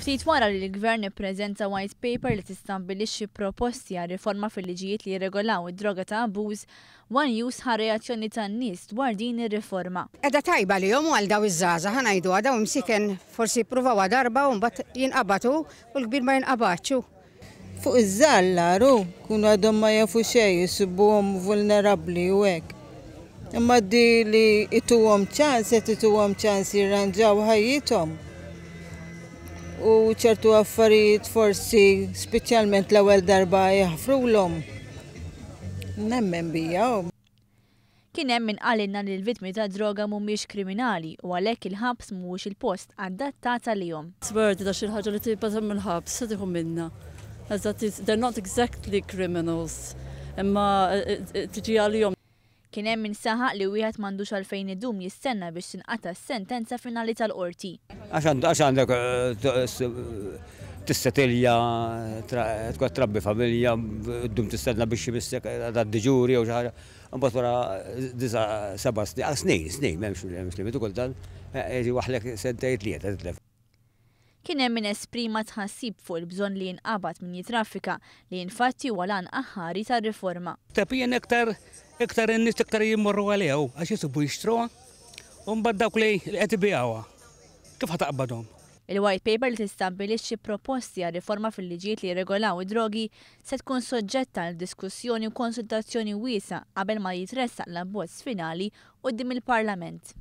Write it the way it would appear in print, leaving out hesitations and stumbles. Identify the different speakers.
Speaker 1: Ftit wara li l-Gvern ippreżenta White Paper li tistabbilixxi proposti għal riforma fil-liġijiet li jirregolaw id-droga ta' abbuż, One News ħa reazzjoni tan-nies dwar din ir-riforma.
Speaker 2: Qiegħda tajba għalihom u għal daw iż-żgħażagħ, ħa ngħiduha, daw imsieken forsi jippruvawha darba u mbagħad jinqabad hu u l-kbir ma jinqabadx hu.
Speaker 3: Fuq iż-żgħar l-agħar hu, jkunu għadhom ma jafu xejn, isibuhom vulnerabbli u hekk. Imma di li ituhom ċans, qed ituhom ċans jirranġaw ħajjithom. U ċertu affarijiet forsi speċjalment l-ewwel darba jaħfrulhom. Nemmen bija.
Speaker 1: Kien hemm min qalilna li l-vittmi tad-droga mhumiex kriminali u għalhekk il-ħabs mhuwiex il-post adattat għalihom.
Speaker 4: It's worth it għax il-ħaġa li tibgħat mill-ħabs se tieħu minnha. Eżatt, they're not exactly criminals, imma tiġi għalihom.
Speaker 1: Kien hemm min saħaq li wieħed m'għandux għalfejn idum jistenna biex tinqata' s-sentenza finali tal-Qorti.
Speaker 5: Għax għandek tissetilja, tkun trabbi familja, ddum tistenna biex imissek tgħaddi ġuri jew xi ħaġa. Imbagħad wara disa' seba' snin, snin, snin, m'hemmx limitu kultant, jiġi waħlek sentejn tlieta titlef.
Speaker 1: Kien hemm min esprima tħassib fuq il-bżonn li jinqabad min jittraffika, li infatti huwa l-għan aħħari tar-riforma.
Speaker 6: Tepien iktar iktar in-nies iktar jmorru għaliha hu għax isibu jixtruha u mbagħad dawk li qed ibigħuha kif ħa taqbadhom?
Speaker 1: Il-White Paper li tistabbilixxi proposti għal riforma fil-liġijiet li jirregolaw id-drogi se tkun soġġetta għal diskussjoni u konsultazzjoni wiesgħa qabel ma jitressaq l-abbozz finali quddiem il-Parlament.